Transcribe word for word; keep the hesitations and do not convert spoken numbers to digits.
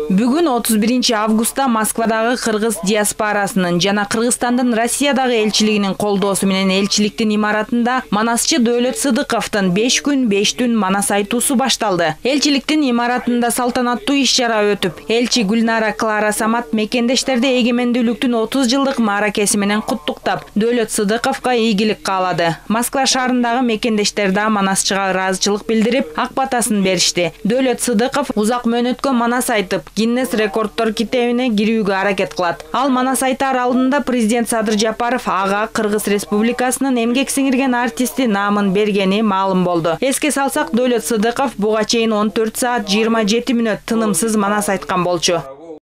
Бүгүн отуз биринчи августта Москвадагы кыргыз диаспорасынын жана Кыргызстандын Россиядагы элчилигинин колдоосу менен элчиликтин имаратында Манасчы Дөөлөт Сыдыковдун беш күн беш түн манас айтуусу башталды. Элчиликтин имаратында салтанаттуу иш-чара өтүп, элчи Гүлнара Клара Самат мекендештерди эгемендүүлүктүн отуз жылдык мааракеси менен куттуктап, Дөөлөт Сыдыковго ийгилик каалады. Москва шаарындагы мекендештер да Манасчыга ыраазычылык билдирип, ак батасын беришти. Дөөлөт Сыдыков узак мөөнөткө манас айтып, Гиннес рекорддор китебине кирүүгө аракет кылат. Ал манас айтаар алдында президент Садыр Жапаров ага Кыргыз Республикасынын эмгек сиңирген артисти наамын бергени маалым болду. Эске салсак, Дөөлөт Сыдыков буга чейин он төрт саат жыйырма жети мүнөт тынымсыз манас айткан болчу.